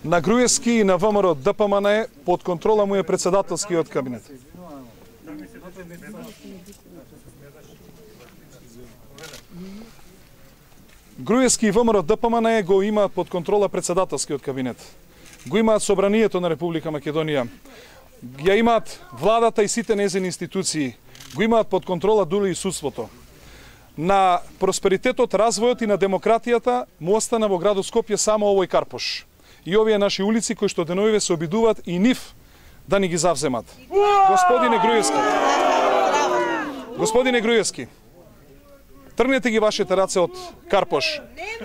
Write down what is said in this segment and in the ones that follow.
На Груевски и на ВМРО ДПМН под контрола му е председателскиот кабинет. Груевски и ВМРО ДПМН го имаат под контрола председателскиот кабинет. Го имаат Собранието на Република Македонија. Ја имаат владата и сите незини институции. Го имаат под контрола дури и судството. На просперитетот, развојот и на демократијата му остана во градот Скопје само овој Карпош. И овие наши улици кои што деновиве се обидуваат и нив да ни ги завземат. Господине Груевски, тргнете ги вашите раце од Карпош.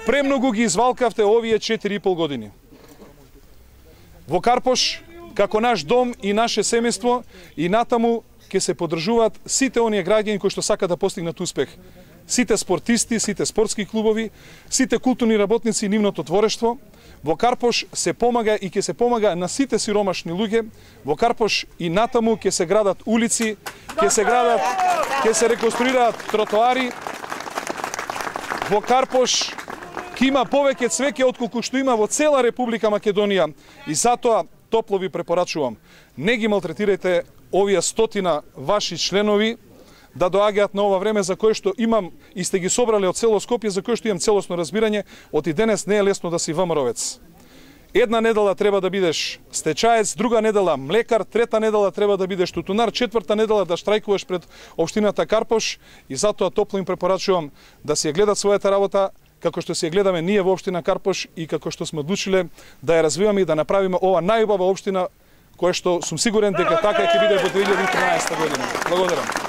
Премногу ги извалкавте овие 4,5 години. Во Карпош, како наш дом и наше семејство, и натаму ќе се поддржуваат сите оние граѓани кои што сакаат да постигнат успех. Сите спортисти, сите спортски клубови, сите културни работници и нивното творештво. Во Карпош се помага и ќе се помага на сите сиромашни луѓе. Во Карпош и натаму ќе се градат улици, ќе се реконструираат тротоари. Во Карпош ќе има повеќе цвеќе отколку што има во цела Република Македонија. И затоа топло ви препорачувам, не ги малтретирајте овие 100 ваши членови да доаѓаат на ова време за кое што имам и сте ги собрали од цело Скопје, за кое што имам целосно разбирање, од и денес не е лесно да си ВМРО-вец. Една недела треба да бидеш стечаец, друга недела млекар, трета недела треба да бидеш тутунар, четврта недела да штрајкуваш пред општината Карпош и затоа топло им препорачувам да си ја гледат својата работа, како што си ја гледаме ние во општина Карпош и како што сме одлучиле да ја развиваме и да направиме ова најубава општина, која што сум сигурен дека така ќе биде во 2013 година. Благодарам. Благодарам.